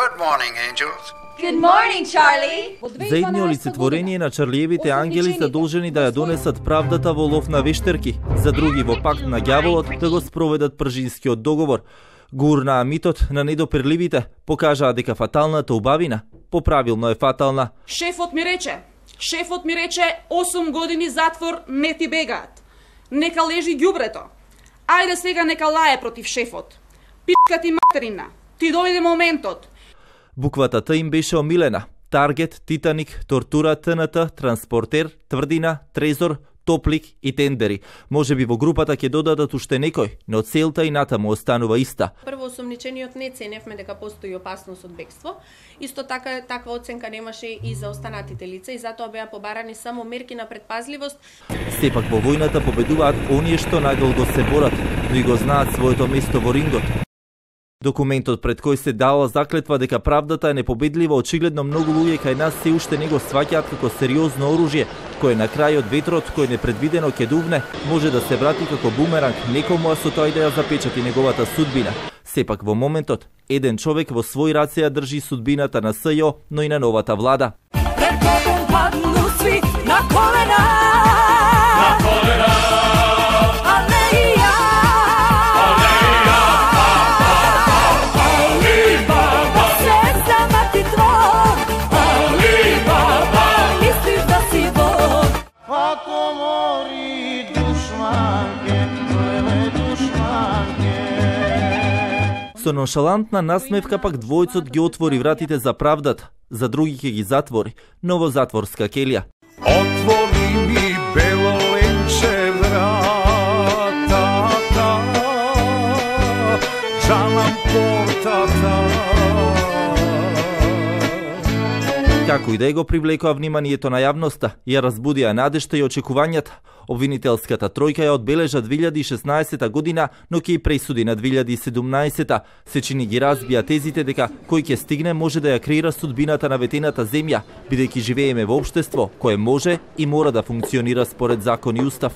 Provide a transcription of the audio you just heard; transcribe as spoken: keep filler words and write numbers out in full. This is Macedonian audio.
Good morning, angels. Good morning, Charlie. За едни олицетворение на Чарлиевите ангели се должени да ја донесат правдата во лов на вештерки, за други во пакт на ѓаволот да го спроведат пржинскиот договор. Гурнаа митот на недопирливите, покажаа дека фаталната убавина поправилно е фатална. Шефот ми рече, шефот ми рече осум години затвор не ти бегаат. Нека лежи ѓубрето. Ајде сега нека лае против шефот. Пичка ти материна. Ти дојде моментот. Буквата Т им беше омилена. Таргет, Титаник, Тортура, Т Н Т, Транспортер, Тврдина, Трезор, Топлик и Тендери. Може би во групата ќе додадат уште некој, но целта и натаму останува иста. Прво осомничениот не ценевме дека постои опасност од бегство. Исто така таква оценка немаше и за останатите лица и затоа беа побарани само мерки на предпазливост. Сепак во војната победуваат оние што најдолго се борат, но и го знаат своето место во рингот. Документот пред кој се дала заклетва дека правдата е непобедлива, очигледно многу луѓе кај нас се уште не го сваќаат како сериозно оружје, кое на крајот ветрот кој непредвидено ќе дувне, може да се врати како бумеранг некому, а со тоа и да ја запечати неговата судбина. Сепак во моментот, еден човек во свој раце ја држи судбината на С Ј О, но и на новата влада. Пред Богом падну сви на колена. На колена. Со ноншалантна насмевка пак двојцот ги отвори вратите за правдата, за други ќе ги затвори, но во затворска келија. Отвори ми бело ленче вратата, джалам портата. Како и да го привлекоа вниманието на јавноста, ја разбудија надежта и очекувањата. Обвинителската тројка ја одбележа две илјади и шеснаесета година, но ќе и пресуди на две илјади и седумнаесета. Сечини ги разбија тезите дека кој ќе стигне може да ја креира судбината на ветената земја, бидејќи живееме во општество кое може и мора да функционира според закон и устав.